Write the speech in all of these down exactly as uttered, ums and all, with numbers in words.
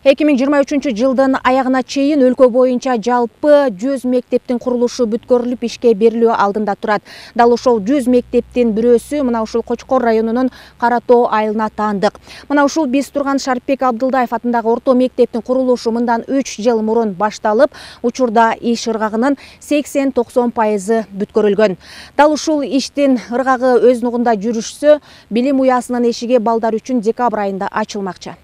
эки миң жыйырма үчүнчү жылдын аягына чейин өлкө боюнча жалпы жүз мектептин курулушу бүткөрүлүп ишке берилүү алдында турат. Дал ошол жүз мектептин бирөөсү мына ушул Кочкор районунун Кара Тоо айылына таандык. Мына ушул биз турган Шарипбек Абдылдаев атындагы орто мектептин курулушу мындан үч жыл мурун башталып, учурда иш ыргагынын сексен токсон пайызы бүткөрүлгөн. Дал ушул иштин ыргагы өз нугунда жүрүшсө, билим уясынын эшиги балдар үчүн декабрь айында ачылмакчы.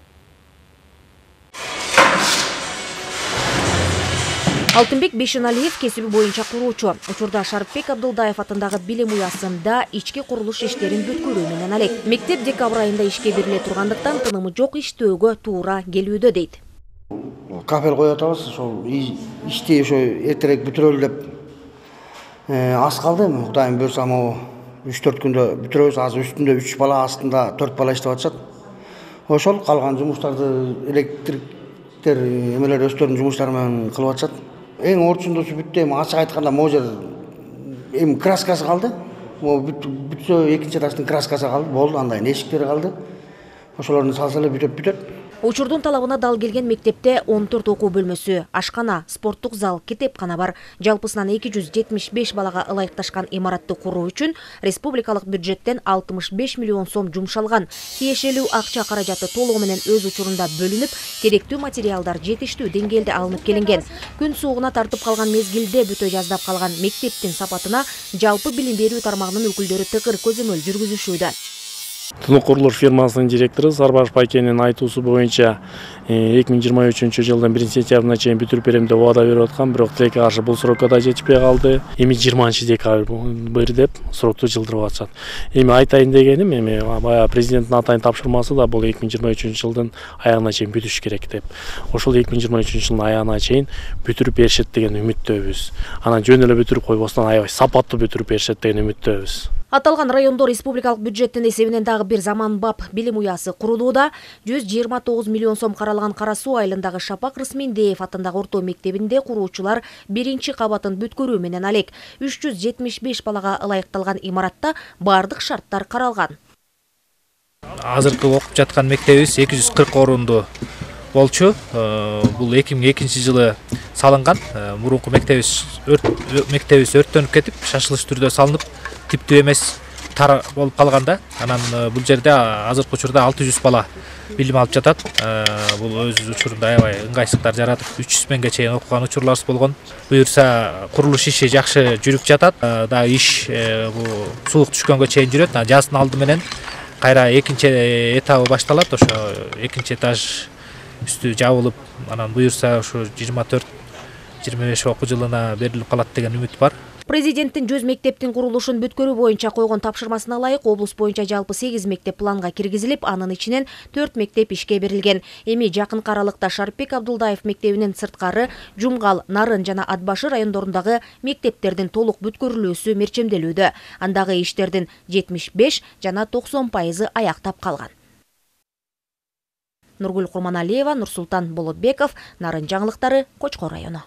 Алтынбек Бейшеналиев кесиби боюнча куруучу. Учурда Шарипбек Абдылдаев атындагы билим уясында ички курулуш иштерин бүткөрүү менен алек. Мектеп декабрь айында ишке бериле тургандыктан тынымы жок иштөөгө туура келүүдө дейт. Капел коюп атабыз, ошол ишти ошо эртерээк бүтүрөлү деп аз калды. Кудайым буйрса могу үч төрт күндө бүтүрөбүз. Азыр үстүндө үч бала, астында төрт бала иштеп атышат. Ошол калган жумуштарды электриктер эмелер өздөрүнүн жумуштары менен кылып атышат. Эң орчундусу бүттү, эми ачык айтканда могу жер эми краскасы калды. Могу бүтсө экинчи этаждын краскасы калды, болду, андай эшиктери калды. Ошолорду салса эле бүтөт бүтөт. Учурдун талабына дал келген мектепте он төрт окуу бөлмөсү, ашкана, спорттук зал, китепкана бар. Жалпысынан эки жүз жетимиш беш балага ылайыкташкан имаратты куруу үчүн республикалык бюджеттен алтымыш беш миллион сом жумшалган. Тиешелүү акча каражаты толугу менен өз учурунда бөлүнүп, керектүү материалдар жетиштүү деңгээлде алынып келинген. Күн суугуна тартып калган мезгилде бүтө жаздап калган мектептин сапатына жалпы билим берүү тармагынын өкүлдөрү тыгыр көзөмөл жүргүзүшүүдө. Тунук курулуш фирмасынын директору Сарбаш Пайкенин айтуусу боюнча эки миң жыйырма үчүнчү жылдын биринчи сентябрына чейин бүтүрүп берем деп убада берип аткан, бирок тилекке каршы бул срокко да жетишпей калды. Эми жыйырманчы декабрь деп срокту жылдырып атышат. Эми айтайын дегеним, эми баягы президенттин атайын тапшырмасы да бул эки миң жыйырма үчүнчү жылдын аягына чейин бүтүш керек деп. Ошол эки миң жыйырма үчүнчү жылдын аягына чейин бүтүрүп беришет деген үмүттөбүз. Анан жөн эле бүтүрүп койбостон аябай сапаттуу бүтүрүп беришет деген үмүттөбүз. Аталган райондо республикалык бюджеттин эсебинен дагы бир заманбап билим уясы курулууда. жүз жыйырма тогуз миллион сом каралган Кара Суу айылындагы Шапак Рысмендеев атындагы орто мектебинде куруучулар биринчи кабатын бүткөрүү менен алек. үч жүз жетимиш беш балага ылайыкталган имаратта бардык шарттар каралган. Азыркы окуп жаткан мектебибиз эки жүз кырк орунду болчу. Бул эки миң экинчи жылы салынган. Мурунку мектебибиз мектебибиз өрттөнүп кетип, шашылыш түрдө салынып, типтүү эмес тар болуп калганда, анан бул жерде азыркы учурда алты жүз бала билим алып жатат. Бул өз учурунда аябай ыңгайсыздыктар жаратып, үч жүз миңге чейин окуган учурларыбыз болгон. Буюрса курулуш иши жакшы жүрүп жатат. Да иш бул суук түшкөнгө чейин жүрөт. Жаздын алды менен кайра экинчи этабы башталат. Ошо экинчи этаж үстү жабылып, анан буюрса ушу жыйырма төрт жыйырма беш окуу жылына берилип калат деген үмүт бар. Президенттин жүз мектептин курулушун бүткөрүү боюнча койгон тапшырмасына ылайык облус боюнча жалпы сегиз мектеп планга киргизилип, анын ичинен төрт мектеп ишке берилген. Эми жакынкы аралыкта Шарипбек Абдылдаев мектебинин сырткары Жумгал, Нарын жана Атбашы райондорундагы мектептердин толук бүткөрүлүүсү мерчемделүүдө. Андагы иштердин жетимиш беш жана токсон пайызы аяктап калган. Нургүл Курманалиева, Нурсултан Болотбеков, Нарын жаңылыктары, Кочкор району.